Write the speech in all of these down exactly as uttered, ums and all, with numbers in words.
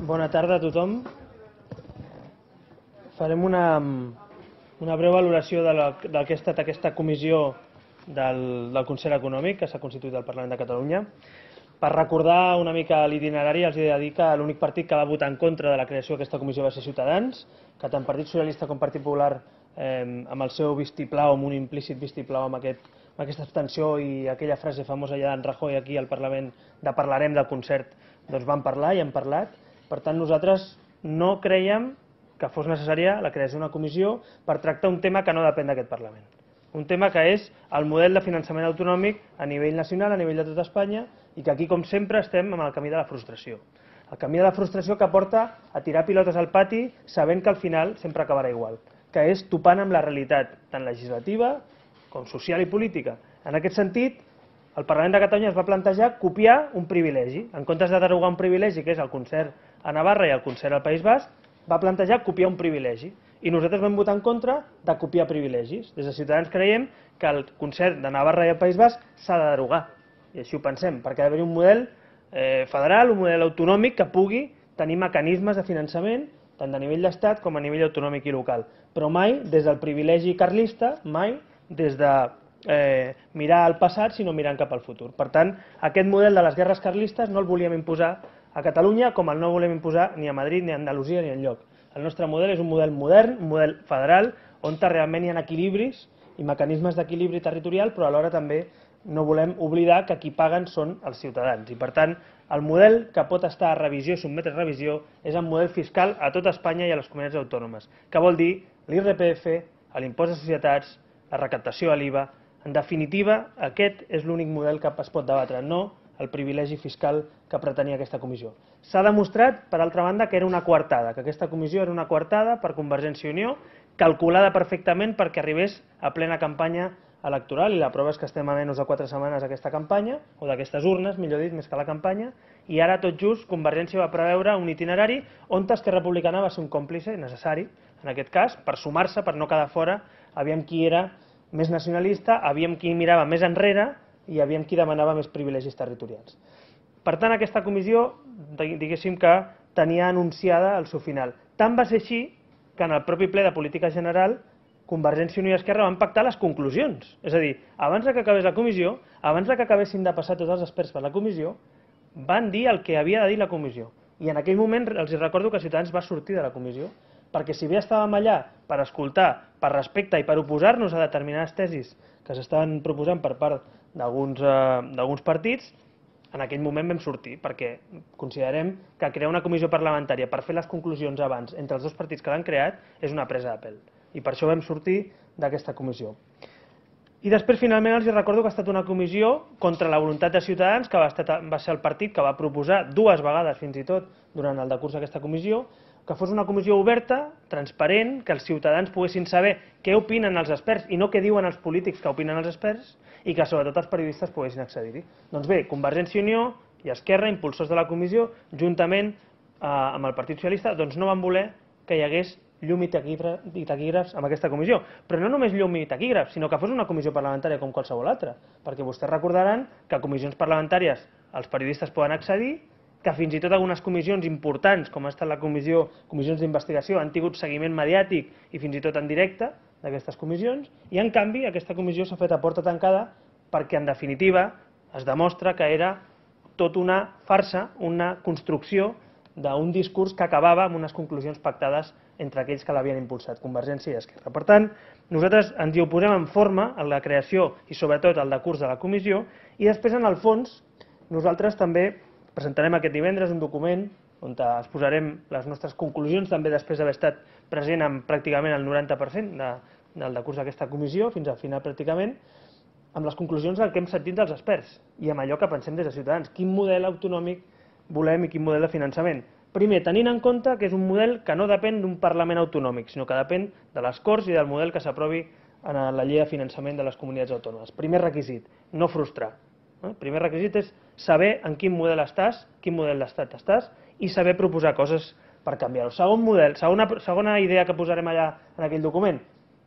Bona tarda a tothom. Farem una, una breu valoració de la, del que ha estat aquesta comissió del, del Consell Econòmic que s'ha constituït al Parlament de Catalunya. Per recordar una mica l'itinerari, els he de dir que l'únic partit que va votar en contra de la creació d'aquesta comissió va ser Ciutadans, que tant Partit Socialista com Partit Popular, eh, amb el seu vistiplau, amb un implícit vistiplau, amb, aquest, amb aquesta abstenció i aquella frase famosa ja d'en Rajoy aquí al Parlament de parlarem del concert, doncs van parlar i han parlat. Per tant, nosaltres no creiem que fos necessària la creació d'una comissió per tractar un tema que no depèn d'aquest Parlament. Un tema que és el model de finançament autonòmic a nivell nacional, a nivell de tot Espanya, i que aquí, com sempre, estem amb el camí de la frustració. El camí de la frustració que porta a tirar pilotes al pati sabent que al final sempre acabarà igual, que és topant amb la realitat, tant legislativa com social i política. En aquest sentit, el Parlament de Catalunya es va plantejar copiar un privilegi. En comptes de derogar un privilegi, que és el concert a Navarra i el concert al País Basc, va plantejar copiar un privilegi. I nosaltres vam votar en contra de copiar privilegis. Des de Ciutadans creiem que el concert de Navarra i el País Basc s'ha de derogar. I així ho pensem, perquè ha d'haver un model eh, federal, un model autonòmic que pugui tenir mecanismes de finançament, tant de nivell d'estat com a nivell autonòmic i local. Però mai des del privilegi carlista, mai des de eh, mirar al passat, sinó mirant cap al futur. Per tant, aquest model de les guerres carlistes no el volíem imposar a Catalunya, com el no volem imposar ni a Madrid, ni a Andalusia, ni enlloc. El nostre model és un model modern, un model federal, on realment hi ha equilibris i mecanismes d'equilibri territorial, però alhora també no volem oblidar que qui paguen són els ciutadans. I per tant, el model que pot estar a revisió i sotmetre a revisió és el model fiscal a tot Espanya i a les comunitats autònomes, que vol dir l'I R P F, l'impost de societats, la recaptació a l'I V A. En definitiva, aquest és l'únic model que es pot debatre, no el privilegi fiscal que pretenia aquesta comissió. S'ha demostrat, per altra banda, que era una coartada, que aquesta comissió era una coartada per Convergència i Unió, calculada perfectament perquè arribés a plena campanya electoral, i la prova és que estem a menys de quatre setmanes d'aquesta campanya, o d'aquestes urnes, millor dit, més que la campanya, i ara tot just Convergència va preveure un itinerari on Esquerra Republicana va ser un còmplice necessari, en aquest cas, per sumar-se, per no quedar fora, aviam qui era més nacionalista, aviam qui mirava més enrere i aviam qui demanava més privilegis territorials. Per tant, aquesta comissió, diguéssim que tenia anunciada el seu final. Tant va ser així que en el propi ple de política general Convergència i Unió i Esquerra van pactar les conclusions. És a dir, abans que acabés la comissió, abans que acabessin de passar tots els experts per la comissió, van dir el que havia de dir la comissió. I en aquell moment els recordo que Ciutadans va sortir de la comissió, perquè si bé estàvem allà per escoltar, per respecte i per oposar-nos a determinades tesis que s'estaven proposant per part d'alguns eh, partits, en aquell moment vam sortir, perquè considerem que crear una comissió parlamentària per fer les conclusions abans entre els dos partits que l'han creat és una presa de pèl. I per això vam sortir d'aquesta comissió. I després, finalment, els recordo que ha estat una comissió contra la voluntat de Ciutadans, que va, estar, va ser el partit que va proposar dues vegades, fins i tot, durant el decurs d'aquesta comissió, que fos una comissió oberta, transparent, que els ciutadans poguessin saber què opinen els experts i no què diuen els polítics que opinen els experts, i que sobretot els periodistes poguessin accedir-hi. Doncs bé, Convergència i Unió i Esquerra, impulsors de la comissió, juntament eh, amb el Partit Socialista, doncs no van voler que hi hagués llum i taquígrafs en aquesta comissió. Però no només llum i taquígrafs, sinó que fos una comissió parlamentària com qualsevol altra, perquè vostès recordaran que a comissions parlamentàries els periodistes poden accedir, que fins i tot algunes comissions importants, com ha estat la comissió, comissions d'investigació, han tingut seguiment mediàtic i fins i tot en directe d'aquestes comissions, i en canvi aquesta comissió s'ha fet a porta tancada perquè en definitiva es demostra que era tot una farsa, una construcció d'un discurs que acabava amb unes conclusions pactades entre aquells que l'havien impulsat, Convergència i Esquerra. Per tant, nosaltres ens hi oposem en forma a la creació i sobretot al decurs de la comissió, i després en el fons nosaltres també presentarem aquest divendres un document on exposarem les nostres conclusions, també després d'haver estat present en pràcticament el noranta per cent de, del decurs d'aquesta comissió, fins al final pràcticament, amb les conclusions del que hem sentit dels experts i amb allò que pensem des de Ciutadans. Quin model autonòmic volem i quin model de finançament? Primer, tenint en compte que és un model que no depèn d'un Parlament autonòmic, sinó que depèn de les Corts i del model que s'aprovi en la llei de finançament de les comunitats autònomes. Primer requisit, no frustrar. El primer requisit és saber en quin model estàs, quin model d'estat estàs, i saber proposar coses per canviar-ho. Segon model, segona, segona idea que posarem allà en aquell document,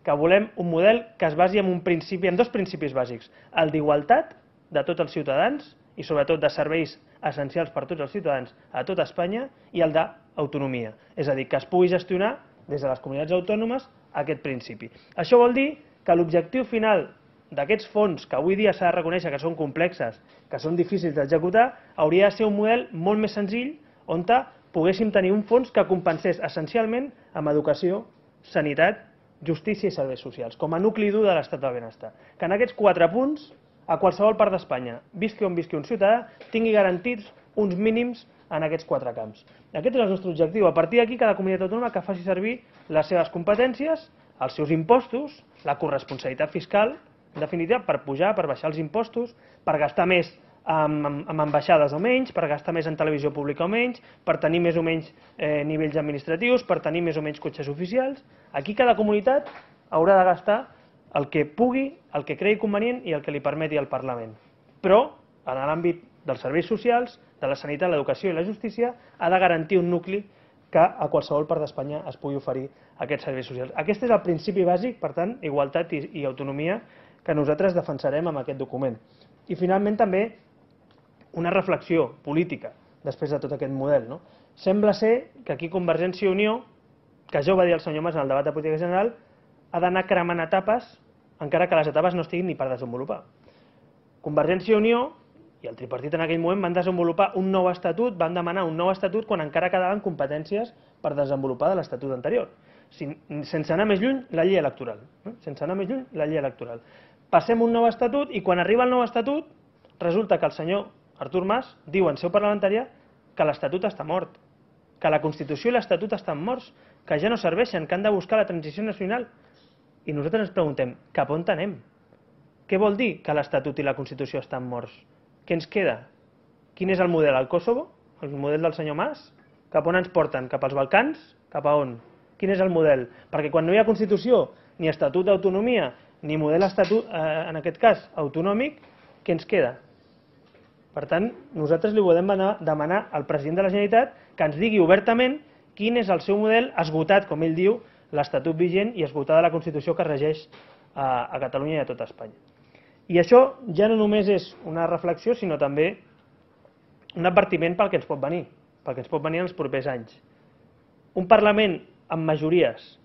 que volem un model que es basi en un principi, en dos principis bàsics, el d'igualtat de tots els ciutadans i sobretot de serveis essencials per a tots els ciutadans a tot Espanya, i el de autonomia. És a dir, que es pugui gestionar des de les comunitats autònomes aquest principi. Això vol dir que l'objectiu final d'aquests fons, que avui dia s'ha de reconèixer que són complexes, que són difícils d'executar, hauria de ser un model molt més senzill on poguéssim tenir un fons que compensés essencialment amb educació, sanitat, justícia i serveis socials, com a nucli dur de l'estat del benestar. Que en aquests quatre punts, a qualsevol part d'Espanya, visqui on visqui un ciutadà, tingui garantits uns mínims en aquests quatre camps. Aquest és el nostre objectiu. A partir d'aquí, cada comunitat autònoma que faci servir les seves competències, els seus impostos, la corresponsabilitat fiscal, en definitiva, per pujar, per baixar els impostos, per gastar més amb, amb ambaixades o menys, per gastar més en televisió pública o menys, per tenir més o menys eh, nivells administratius, per tenir més o menys cotxes oficials. Aquí cada comunitat haurà de gastar el que pugui, el que cregui convenient i el que li permeti el Parlament. Però, en l'àmbit dels serveis socials, de la sanitat, l'educació i la justícia, ha de garantir un nucli que a qualsevol part d'Espanya es pugui oferir aquests serveis socials. Aquest és el principi bàsic, per tant, igualtat i, i autonomia, que nosaltres defensarem amb aquest document. I finalment també una reflexió política després de tot aquest model. No? Sembla ser que aquí Convergència i Unió, que ja ho va dir el senyor Mas en el debat de política general, ha d'anar cremant etapes, encara que les etapes no estiguin ni per desenvolupar. Convergència i Unió i el tripartit en aquell moment van desenvolupar un nou estatut, van demanar un nou estatut quan encara quedaven competències per desenvolupar de l'estatut anterior. Sense anar més lluny, la llei electoral. Sense anar més lluny, la llei electoral. Passem un nou estatut i quan arriba el nou estatut resulta que el senyor Artur Mas diu en seu parlamentària que l'estatut està mort, que la Constitució i l'estatut estan morts, que ja no serveixen, que han de buscar la transició nacional. I nosaltres ens preguntem, cap on anem? Què vol dir que l'Estatut i la Constitució estan morts? Què ens queda? Quin és el model? El Kosovo? El model del senyor Mas? Cap on ens porten? Cap als Balcans? Cap a on? Quin és el model? Perquè quan no hi ha Constitució, ni Estatut d'autonomia, ni model estatut, eh, en aquest cas autonòmic, què ens queda? Per tant, nosaltres li podem demanar al president de la Generalitat que ens digui obertament quin és el seu model esgotat, com ell diu, l'Estatut vigent i esgotada la Constitució que regeix a, a Catalunya i a tot Espanya. I això ja no només és una reflexió, sinó també un advertiment pel que ens pot venir, pel que ens pot venir en els propers anys. Un Parlament amb majories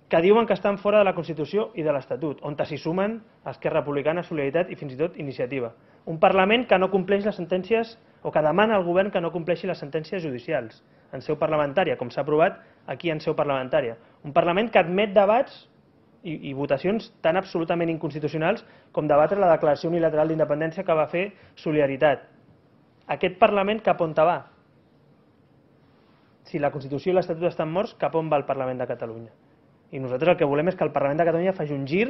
que diuen que estan fora de la Constitució i de l'Estatut, on s'hi sumen Esquerra Republicana, Solidaritat i fins i tot Iniciativa. Un Parlament que no compleix les sentències o que demana al govern que no compleixi les sentències judicials en seu parlamentària, com s'ha aprovat aquí en seu parlamentària. Un Parlament que admet debats i, i votacions tan absolutament inconstitucionals com debatre la declaració unilateral d'independència que va fer Solidaritat. Aquest Parlament cap on va? Si la Constitució i l'Estatut estan morts, cap on va el Parlament de Catalunya? I nosaltres el que volem és que el Parlament de Catalunya faci un gir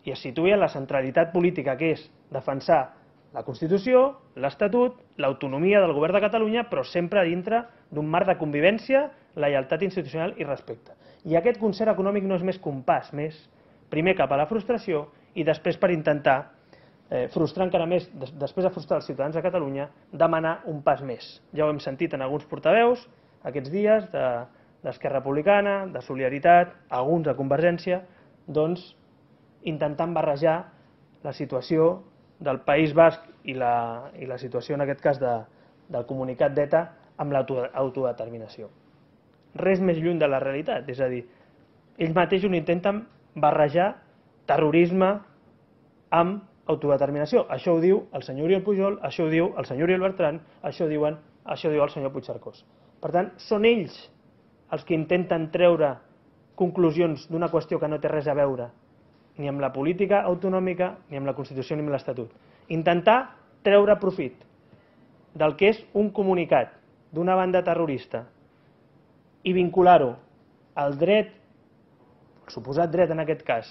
i es situï en la centralitat política, que és defensar la Constitució, l'Estatut, l'autonomia del govern de Catalunya, però sempre dintre d'un marc de convivència, lleialtat institucional i respecte. I aquest concert econòmic no és més que un pas més, primer cap a la frustració i després per intentar, eh, frustrar encara més, des, després de frustrar els ciutadans de Catalunya, demanar un pas més. Ja ho hem sentit en alguns portaveus aquests dies, de d'Esquerra Republicana, de Solidaritat, alguns de Convergència, doncs intentant barrejar la situació del País Basc i la, i la situació en aquest cas de, del comunicat d'ETA amb l'autodeterminació. Res més lluny de la realitat, és a dir, ells mateixos intenten barrejar terrorisme amb autodeterminació. Això ho diu el senyor Oriol Pujol, això ho diu el senyor Oriol Bertran, això ho diuen, això ho diu el senyor Puigcercós. Per tant, són ells els que intenten treure conclusions d'una qüestió que no té res a veure ni amb la política autonòmica, ni amb la Constitució, ni amb l'Estatut. Intentar treure profit del que és un comunicat d'una banda terrorista i vincular-ho al dret, el suposat dret en aquest cas,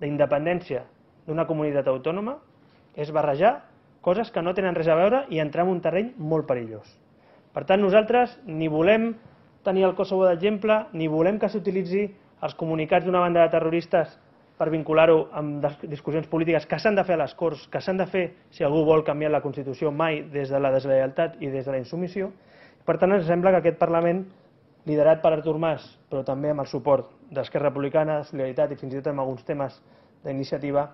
d'independència d'una comunitat autònoma, és barrejar coses que no tenen res a veure i entrar en un terreny molt perillós. Per tant, nosaltres ni volem tenir el Kosovo d'exemple, ni volem que s'utilitzi els comunicats d'una banda de terroristes per vincular-ho amb discussions polítiques que s'han de fer a les Corts, que s'han de fer si algú vol canviar la Constitució, mai des de la deslleialtat i des de la insubmissió. Per tant, ens sembla que aquest Parlament, liderat per Artur Mas, però també amb el suport d'Esquerra Republicana, de Solidaritat i fins i tot amb alguns temes d'iniciativa,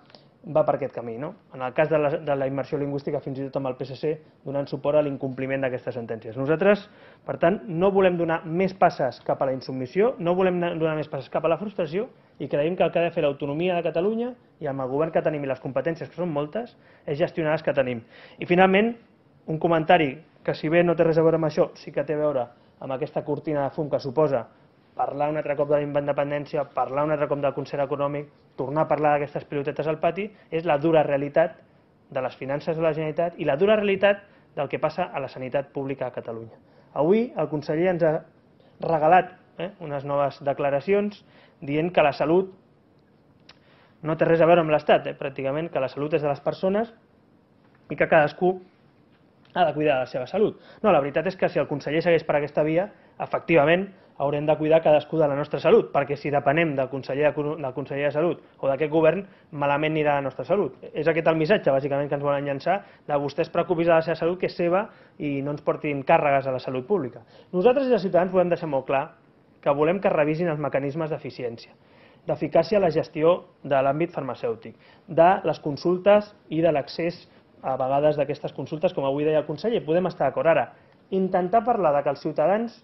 va per aquest camí. No? En el cas de la, de la immersió lingüística, fins i tot amb el P S C, donant suport a l'incompliment d'aquestes sentències. Nosaltres, per tant, no volem donar més passes cap a la insubmissió, no volem donar més passes cap a la frustració i creiem que el que ha de fer l'autonomia de Catalunya i amb el govern que tenim i les competències, que són moltes, és gestionar les que tenim. I finalment, un comentari que, si bé no té res a veure amb això, sí que té a veure amb aquesta cortina de fum que suposa parlar un altre cop de la independència, parlar un altre cop del concert econòmic, tornar a parlar d'aquestes pilotetes al pati, és la dura realitat de les finances de la Generalitat i la dura realitat del que passa a la sanitat pública a Catalunya. Avui el conseller ens ha regalat eh, unes noves declaracions dient que la salut no té res a veure amb l'Estat, eh, pràcticament, que la salut és de les persones i que cadascú ha de cuidar de la seva salut. No, la veritat és que si el conseller segueix per aquesta via, efectivament, haurem de cuidar cadascú de la nostra salut, perquè si depenem del conseller, del conseller de Salut o d'aquest govern, malament anirà la nostra salut. És aquest el missatge, bàsicament, que ens volen llançar, de vostès preocupis de la seva salut, que és seva, i no ens portin càrregues a la salut pública. Nosaltres, des de Ciutadans, volem deixar molt clar que volem que revisin els mecanismes d'eficiència, d'eficàcia a la gestió de l'àmbit farmacèutic, de les consultes i de l'accés a vegades d'aquestes consultes, com avui deia el conseller. Podem estar d'acord. Ara, intentar parlar de que els ciutadans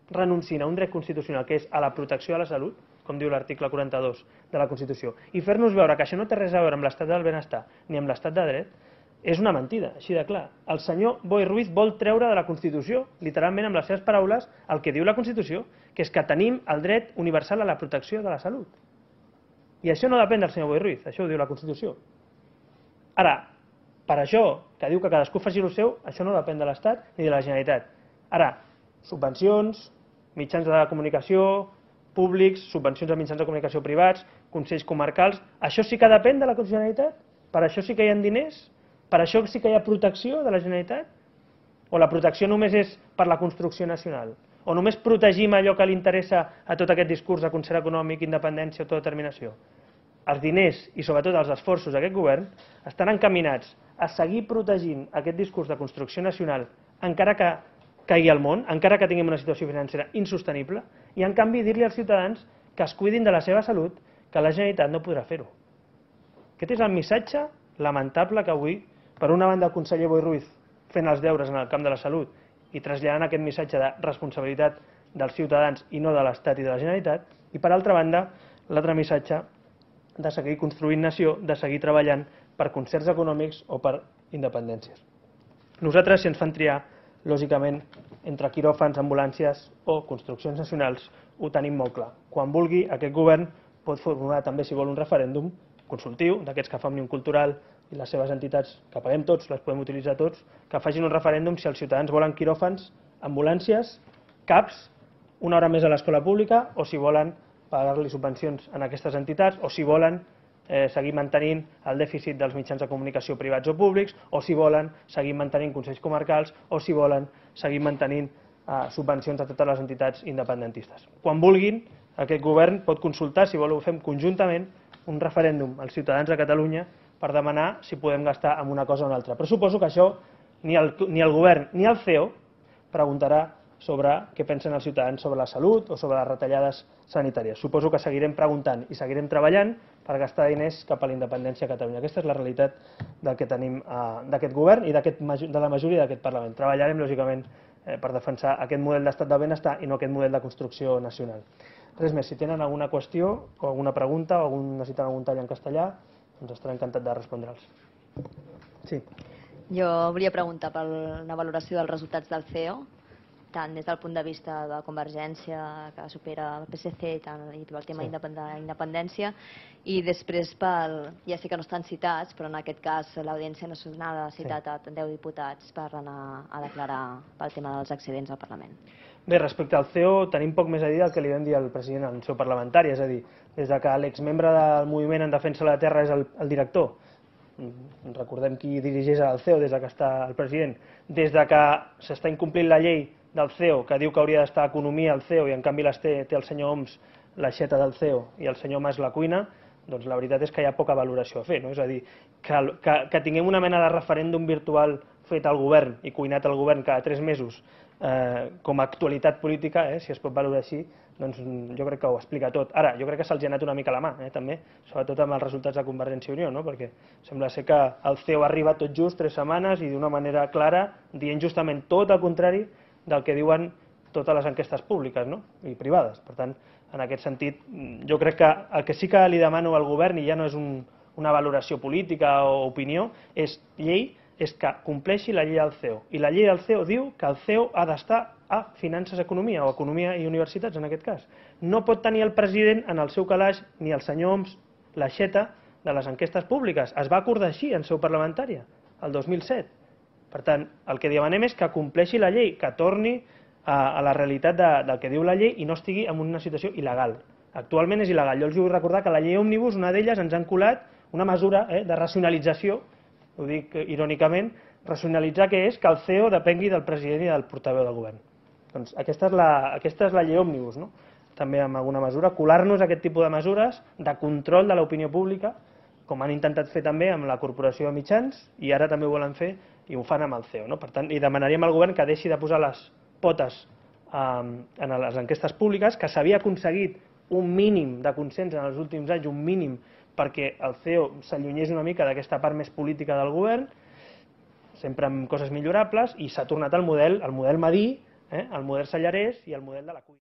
renunciïn a un dret constitucional, que és a la protecció de la salut, com diu l'article quaranta-dos de la Constitució, i fer-nos veure que això no té res a veure amb l'estat del benestar ni amb l'estat de dret, és una mentida, així de clar. El senyor Boi Ruiz vol treure de la Constitució, literalment amb les seves paraules, el que diu la Constitució, que és que tenim el dret universal a la protecció de la salut. I això no depèn del senyor Boi Ruiz, això ho diu la Constitució. Ara, per això, que diu que cadascú faci el seu, això no depèn de l'Estat ni de la Generalitat. Ara, subvencions, mitjans de comunicació públics, subvencions a mitjans de comunicació privats, consells comarcals, això sí que depèn de la Generalitat? Per això sí que hi ha diners? Per això sí que hi ha protecció de la Generalitat? O la protecció només és per la construcció nacional? O només protegim allò que li interessa a tot aquest discurs de concert econòmic, independència, autodeterminació? Els diners i sobretot els esforços d'aquest govern estan encaminats a seguir protegint aquest discurs de construcció nacional, encara que caigui al món, encara que tinguem una situació financera insostenible, i en canvi dir-li als ciutadans que es cuidin de la seva salut, que la Generalitat no podrà fer-ho. Aquest és el missatge lamentable que avui, per una banda, el conseller Boi Ruiz fent els deures en el camp de la salut i traslladant aquest missatge de responsabilitat dels ciutadans i no de l'Estat i de la Generalitat, i per altra banda, l'altre missatge de seguir construint nació, de seguir treballant per concerts econòmics o per independències. Nosaltres, si ens fan triar, lògicament, entre quiròfans, ambulàncies o construccions nacionals, ho tenim molt clar. Quan vulgui, aquest govern pot formular també, si vol, un referèndum consultiu, d'aquests que fa Òmnium Cultural i les seves entitats, que paguem tots, les podem utilitzar tots, que facin un referèndum si els ciutadans volen quiròfans, ambulàncies, CAPs, una hora més a l'escola pública, o si volen pagar-li subvencions a aquestes entitats, o si volen Eh, seguir mantenint el dèficit dels mitjans de comunicació privats o públics, o si volen seguir mantenint consells comarcals, o si volen seguir mantenint eh, subvencions a totes les entitats independentistes. Quan vulguin, aquest govern pot consultar, si vol ho fem conjuntament, un referèndum als ciutadans de Catalunya per demanar si podem gastar en una cosa o una altra. Però suposo que això ni el, ni el govern ni el C E O preguntarà sobre què pensen els ciutadans sobre la salut o sobre les retallades sanitàries. Suposo que seguirem preguntant i seguirem treballant per gastar diners cap a la independència a Catalunya. Aquesta és la realitat del que tenim d'aquest govern i de la majoria d'aquest Parlament. Treballarem, lògicament, per defensar aquest model d'estat del benestar i no aquest model de construcció nacional. Res més, si tenen alguna qüestió o alguna pregunta o necessiten algun tall en castellà, doncs estaré encantat de respondre'ls. Sí. Jo volia preguntar per una valoració dels resultats del C E O, tant des del punt de vista de Convergència, que supera el P S C, tant i pel tema sí. independència, i després, pel, ja sé que no estan citats, però en aquest cas l'Audiència Nacional ha citat sí. a deu diputats per anar a declarar pel tema dels accidents al Parlament. Bé, respecte al C E O, tenim poc més a dir del que li vam dir al president en seu parlamentari, és a dir, des que l'exmembre del moviment en defensa de la terra és el, el director, recordem qui dirigeix el C E O des que està el president, des que s'està incomplint la llei del C E O, que diu que hauria d'estar economia al C E O i en canvi les té, té el senyor Homs l'aixeta del C E O i el senyor Mas la cuina, doncs la veritat és que hi ha poca valoració a fer. No? És a dir, que, que, que tinguem una mena de referèndum virtual fet al govern i cuinat al govern cada tres mesos eh, com a actualitat política, eh, si es pot valorar així, doncs jo crec que ho explica tot. Ara, jo crec que se'ls ha anat una mica la mà, eh, també, sobretot amb els resultats de Convergència i Unió, no? Perquè sembla ser que el C E O arriba tot just tres setmanes i d'una manera clara dient justament tot el contrari del que diuen totes les enquestes públiques, no? I privades. Per tant, en aquest sentit, jo crec que el que sí que li demano al govern, i ja no és un, una valoració política o opinió, és llei, és que compleixi la llei del C E O. I la llei del C E O diu que el C E O ha d'estar a Finances i Economia, o Economia i Universitats, en aquest cas. No pot tenir el president en el seu calaix, ni el senyor Homs, l'aixeta de les enquestes públiques. Es va acordar així en seu parlamentària, el dos mil set. Per tant, el que demanem és que compleixi la llei, que torni a, a la realitat de, del que diu la llei i no estigui en una situació il·legal. Actualment és il·legal. Jo els vull recordar que la llei Òmnibus, una d'elles, ens han colat una mesura eh, de racionalització, ho dic irònicament, racionalitzar que és que el C E O depengui del president i del portaveu del govern. Doncs aquesta és la, aquesta és la llei Òmnibus, no? També en alguna mesura, colar-nos aquest tipus de mesures de control de l'opinió pública, com han intentat fer també amb la Corporació de Mitjans, i ara també ho volen fer i ho fan amb el C E O. No? Per tant, i demanaríem al govern que deixi de posar les potes eh, en les enquestes públiques, que s'havia aconseguit un mínim de consens en els últims anys, un mínim perquè el C E O s'allunyés una mica d'aquesta part més política del govern, sempre amb coses millorables, i s'ha tornat al model, al model Madí, eh, el model Sallarès i el model de la cuina.